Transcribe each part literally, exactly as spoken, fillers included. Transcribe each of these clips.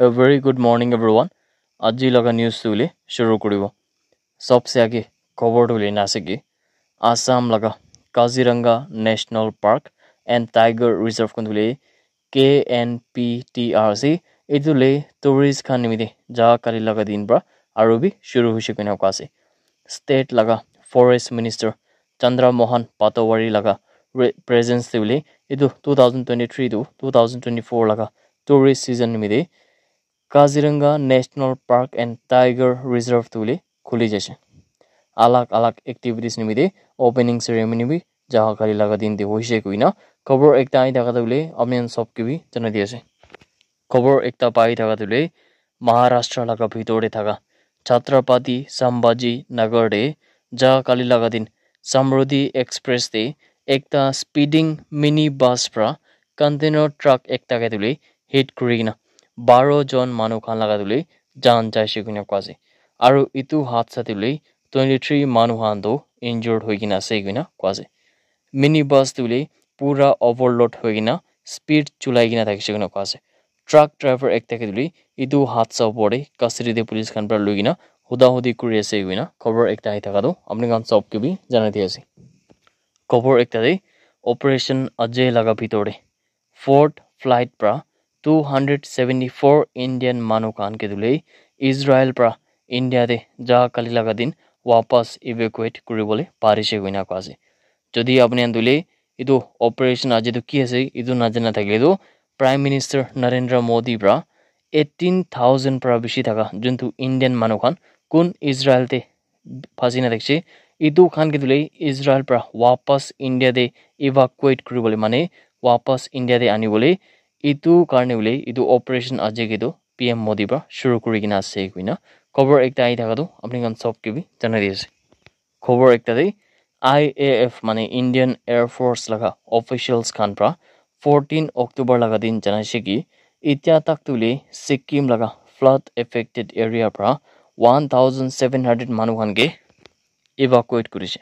A very good morning, everyone. Aji laga news tu le shuru kuribo. Sobse age khobor tu le na ase ki Assam laga Kaziranga National Park and Tiger Reserve kun tu le K N P T R C, etu le tourist khan nimite ja kali laga din pra aru bi shuru hoise koina koa ase. State laga Forest Minister Chandra Mohan Patowary laga re- presence te bole etu two thousand twenty-three to two thousand twenty-four laga tourist season nimite Kaziranga National Park and Tiger Reserve tu le khuli jaise. Alag alag activities nimite opening ceremony bi jaga kali laga din te hoise koina khobor ekta ahi thaka tu le apni khan sob ke bi janai di ase. Khobor ekta pai thaka tu le Maharashtra laga bhitor te thaka Chhatrapati Sambhaji Nagar te ja kali laga din Samruddhi Express te ekta speeding mini bus pra container truck ekta ke tu le hit kuri kena baro jon manu khan laga tu le jan jaise koina koa ase. Aru etu hadsa tu le twenty-three manu khan tu injured hoi kena ase koina koa ase. Mini bus tu le pura overload hoi kena speed chulai kena thakise koina koa ase. Truck driver ekta ke tu le etu hadsa opor te custody te police khan pra loi kena huda hudi kuri ase koina khobor ekta ahi thaka tu apni khan sob ke bi janai di ase. Khobor ekta te Operation Ajay laga bhitor te Ford flight pra two hundred seventy-four Indian manu khan ke tu le Israel pra India te ja kali laga din wapas evacuate kuri bole parise koina koa ase. Jodi apni khan tu le etu operation aji tu ki ase etu najana thakile tu Prime Minister Narendra Modi pra eighteen thousand pra bishi thaka juntu Indian manu khan kun Israel te phasi na thakise etu khan ke tu le Israel pra wapas India te evacuate kuri bole mane wapas India te ani bole etu karne bole etu operation aji ke tu P M Modi pra shuru kuri kena ase koina khobor ekta ahi thaka tu apni khan sob ke bi janai di ase. Khobor ekta te I A F mane Indian Air Force laga officials khan pra fourteen October laga din janai se ki itya tak tu le Sikkim laga flood affected area pra one thousand seven hundred manu khan ke evacuate kurise.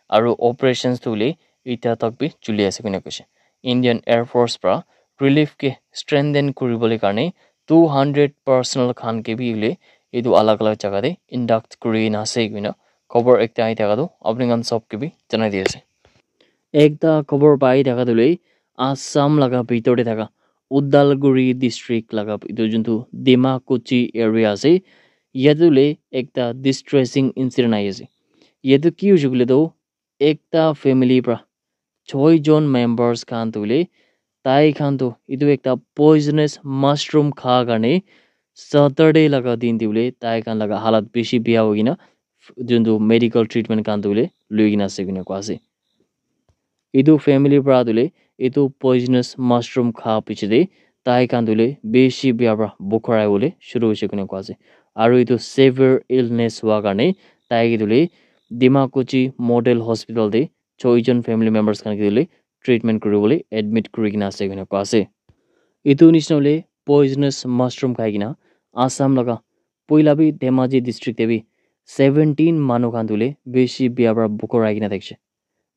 Aru operations tu le itya tak bi chuli ase koina koise. Indian Air Force pra relief ke strengthen kuri bole karne two hundred personnel khan ke bi le etu alag alag jaga te induct kuri na ase koina khobor ekta ahi thaka tu apni khan sob ke bi janai di ase. Ekta khobor pai thaka tu le Assam laga bhitor te thaka Udalguri district laga etu juntu Dima Kuchi area ase. Yate le ekta distressing incident ahi ase. Yate ki hoise koile tu ekta family pra choi jon members khan tu le tai khan tu etu ekta poisonous mushroom kha karne Saturday laga din te bole tai khan laga halat bishi bia hoi kena juntu medical treatment khan tu le lui kena ase koina koa ase. Etu family pra tu le etu poisonous mushroom kha piche te tai khan tu le bishi bia pra bukharai bole shuru hoise koina koa ase. Aru etu severe illness hua karne tai ke tu le Dima Kuchi Model Hospital te choi jon family members khan ke tu le treatment kuri bole admit kuri kena ase koina koa ase. Etu nishina hoile poisonous mushroom khai kena Assam laga poila bi Dhemaji district te bi seventeen manu khan tu le bishi bia pra bukharai kena thakise.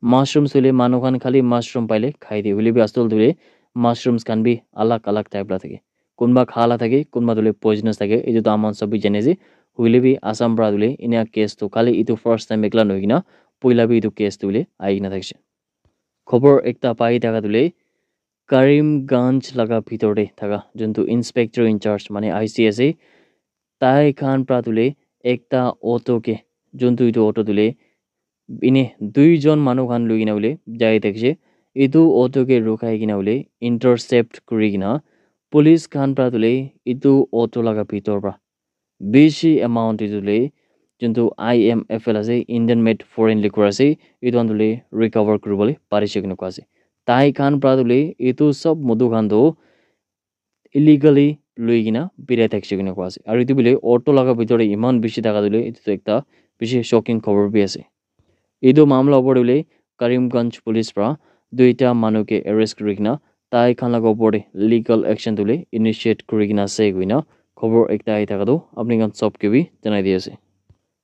Mushrooms hoile manu khan khali mushroom paile khai de. Hoile bi asol tu le mushrooms khan bi alag alag type la thake. Kunba kha la thake, kunba tu le poisonous thake. Etu tu aman sob bi jane ase. Hoile bi Assam pra tu le enia case tu khali etu first time ekla nohoi kena poila bi etu case tu le ahi kena thakise. Khobor ekta pai thaka tu le Karimganj laga bhitor te thaka juntu inspector in charge mane I C ase, tai khan pra tu le ekta auto ke juntu etu auto tu le ine dui jon manu khan lui kena bole jai thakise. Etu auto ke rukhai kena bole intercept kuri kena police khan pra tu le etu auto laga bhitor pra bishi amount etu le juntu I M F L ase, Indian made foreign liquor ase, etu khan tu le recover kuri bole parise koina koa ase. Tai khan pra tu le etu sob modu khan tu illegally lui kena birai thakise koina koa ase. Aru etu bole auto laga bhitor te eman bishi thaka tu le etu tu ekta bishi shocking khobor bi ase. Etu mamla opor te hoile Karimganj police pra duita manu ke arrest kuri kena tai khan laga opor te legal action tu le initiate kuri kena ase koina khobor ekta ahi thaka tu apni khan sob ke bi janai di ase.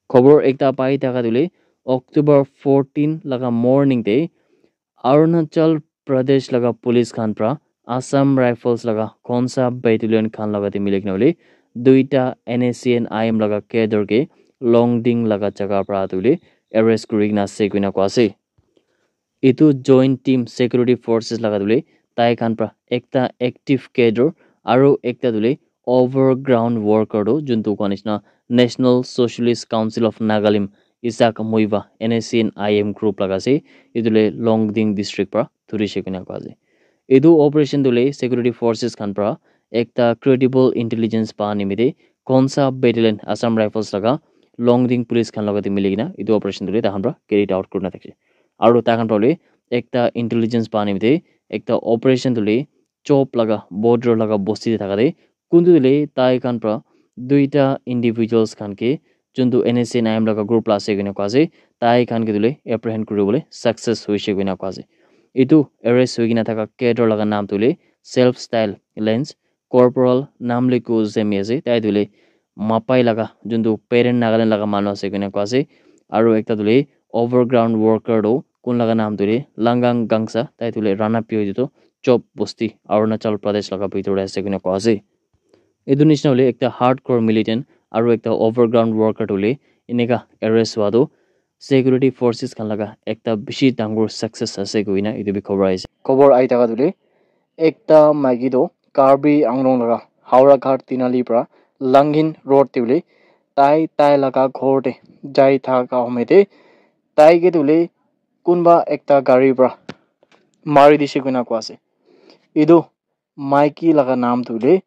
Khobor ekta pai thaka tu le October fourteen laga morning te Arunachal Pradesh laga police khan pra Assam Rifles laga Khonsa Battalion khan laga te mili kena hoile duita N S C N I M laga cadre ke Longding laga jaga para tu hoile arrest kuri kena ase koina koa ase. Etu joint team security forces laga tu hoile tai khan para ekta active cadre aru ekta tu hoile overground worker tu juntu koa nishina National Socialist Council of Nagalim Isaac Muivah N S C N I M group laga ase. Etu le Longding district para thurishe koina koa ase. Etu operation tu le security forces khan para ekta credible intelligence pa nimite Khonsa Battalion Assam Rifles laga Longding police khan laga te mili kena etu operation tu le tahan para carried out kurina thakishe. Aru tai khan para le ekta intelligence pa nimite ekta operation tu le Chop laga border laga bosti te thaka te kuntu tu le tai khan para duita individuals khan ke juntu N S C N I M laga group la ase koina koa ase, tai khan ke tu le apprehend kuri bole success hoishe koina koa ase. Etu arrest hoi kena thaka cadre laga naam tu le Self Style Lens Corporal Namliku Zemi ase. Tai tu le Mapai laga juntu parent Nagaland laga manu ase koina koa ase. Aru ekta tu le overground worker tu kun laga naam tu le Langang Gangsa, tai tu le Rana Pyo tu Chop bosti Arunachal Pradesh laga bhitor te ase koina koa ase. Etu nishina hoile ekta hardcore militant aru ekta overground worker tu hoile eneka arrest hua tu security forces khan laga ekta bishi dangor success ase koina etu bi khobor ahi ase. Khobor ahi thaka tu hoile ekta maiki tu Karbi Anglong laga Howraghat Tinali para Langhin road te hoile tai tai laga ghor te jai thaka home te tai ke tu hoile kunba ekta gari para mari dishe koina koa ase. Etu maiki laga naam tu hoile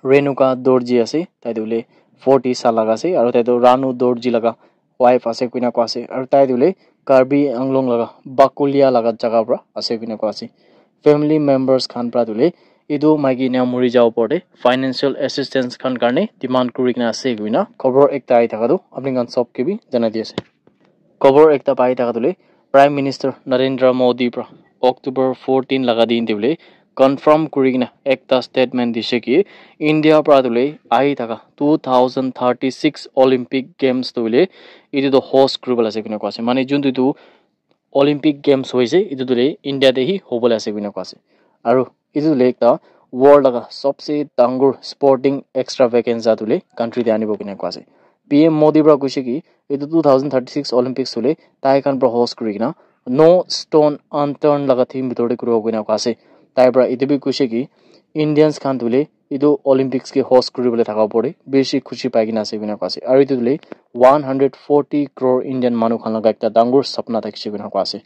Renuka Dorji ase, tai tu hoile forty saal laga ase, aru tai tu Ranu Dorji laga wife ase koina koa ase, aru tai tu hoile Karbi Anglong laga Bakulia laga jaga para ase koina koa ase. Family members khan para tu hoile etu maiki ena mori ja opor te financial assistance khan karne demand kuri kena ase koina khobor ekta ahi thaka tu apni khan sob ke bi janai di ase. Khobor ekta pai thaka tu hoile Prime Minister Narendra Modi para October fourteen laga din te hoile confirm kuri kena ekta statement dishe ki India para tu hoile ahi thaka two thousand thirty-six Olympic Games tu hoile etu tu host kuri bole ase koina koa ase. Mane juntu tu Olympic Games hoise etu tu hoile India te hi hobole ase koina koa ase. Aru etu tu hoile ekta world laga sobse dangor sporting extravaganza tu hoile country te anibo koina koa ase. P M Modi para koise ki etu two thousand thirty-six Olympics tu hoile tai khan para host kuri kena no stone unturned laga theme bhitor te kuribo koina koa ase. Tai para etu bi koise ki Indians khan tu hoile etu Olympics ke host kuri bole thaka opor te bishi khushi pai kena ase koina koa ase. Aru etu tu hoile one hundred forty crore Indian manu khan laga ekta dangor sapna thakishe koina koa ase.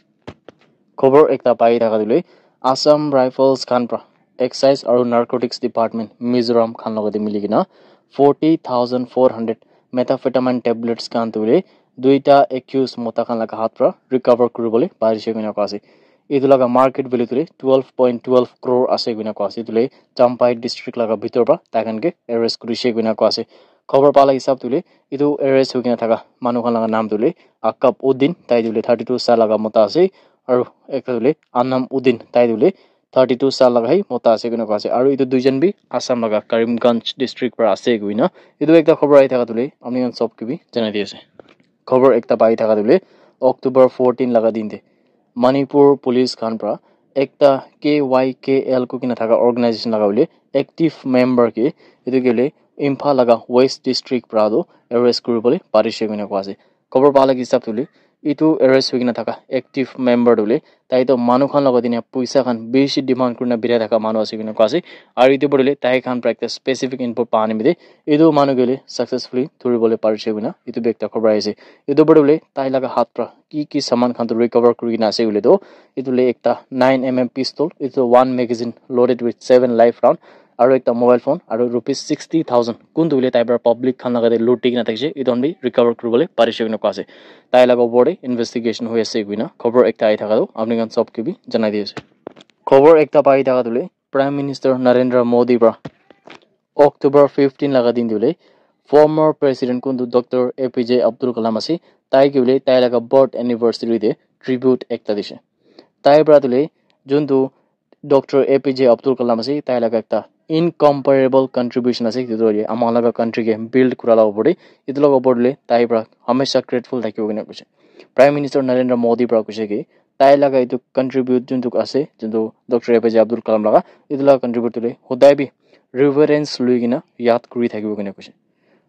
Khobor ekta pai thaka tu hoile Assam Rifles khan para Excise aru Narcotics Department Mizoram khan logote mili kena forty thousand four hundred methamphetamine tablets khan tu hoile duita accused mota khan laga hath para recover kuri bole parishe koina koa ase. Etu laga market value tu hoile twelve point twelve crore ase koina koa ase. Etu hoile Champhai district laga bhitor para tai khan ke arrest kurishe koina koa ase. Khobor pa la hisab tu hoile etu arrest hoi kena thaka manu khan laga naam tu hoile Akab Uddin, tai tu hoile thirty two saal laga mota ase, aru ekta tu hoile Anam Uddin, tai tu hoile thirty two saal laga hi mota ase koina koa ase, aru etu duijon bi Assam laga Karimganj district para ase koina etu ekta khobor ahi thaka tu hoile apni khan sob ke bi janai di ase. Khobor ekta pai thaka tu hoile October fourteen laga din te Manipur police khan para ekta K Y K L koi kena thaka organization laga hoile active member ke etu ke hoile Imphal laga West district para tu arrest kuri bole parishe koina koa ase. Khobor pa la hisab tu hoile etu arrest hoi kena thaka active member tu hoile tai tu manu khan logote ena poisa khan bishi demand kuri na birai thaka manu ase koina koa ase. Aru etu para hoile tai khan para ekta specific info pa nimite etu manu ke hoile successfully thuri bole parishe koina etu bi ekta khobor ahi ase. Etu para hoile tai laga hath para ki ki saman khan tu recover kuri kena ase hoile tu etu hoile ekta nine M M pistol, etu one magazine loaded with seven live round, aru ekta mobile phone aru rupees sixty thousand kun tu hoile tai para public khan laga te luti kena thakishe, etu khan bi recover kuri bole parishe koina koa ase. Tai laga opor te investigation hoi ase koina khobor ekta ahi thaka tu apni khan sob ke bi janai di ase. Khobor ekta pai thaka tu hoile Prime Minister Narendra Modi para October fifteen laga din tu hoile former president kun tu Doctor A P J Abdul Kalam ase, tai ke hoile tai laga birth anniversary te tribute ekta dishe. Tai para tu hoile juntu Doctor A P J Abdul Kalam ase, tai laga ekta incomparable contribution ase, etu tu hoile ama laga country ke build kura la opor te, etu laga opor te hoile tai para hamesha grateful thakibo koina koise. Prime Minister Narendra Modi para koise ki tai laga etu contribute juntu ase, juntu Doctor A P J Abdul Kalam laga, etu laga contribute tu le hodai bi reverence lui kena yad kuri thakibo kena koise.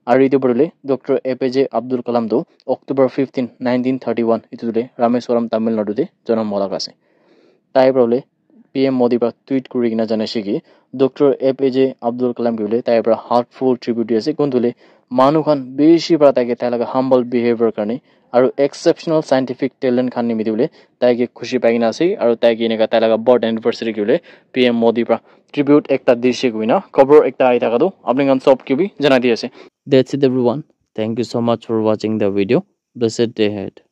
Aru etu para le Doctor A P J Abdul Kalam tu October fifteen, nineteen thirty-one etu tu le Rameswaram, Tamil Nadu te janam howa laga ase. Tai para le P M Modi para tweet kuri kena janaise ki Doctor A P J Abdul Kalam ke bole tai para heartful tribute di ase. Kun tu le manu khan bishi para tai ke tai laga humble behavior karne aru exceptional scientific talent khan nimite bole tai ke khushi pai kena ase. Aru tai ke eneka tai laga birth anniversary ke bole P M Modi para tribute ekta dise koina khobor ekta ahi thaka tu apni khan sob ke bi janai di ase. That's it, everyone. Thank you so much for watching the video. Blessed day ahead.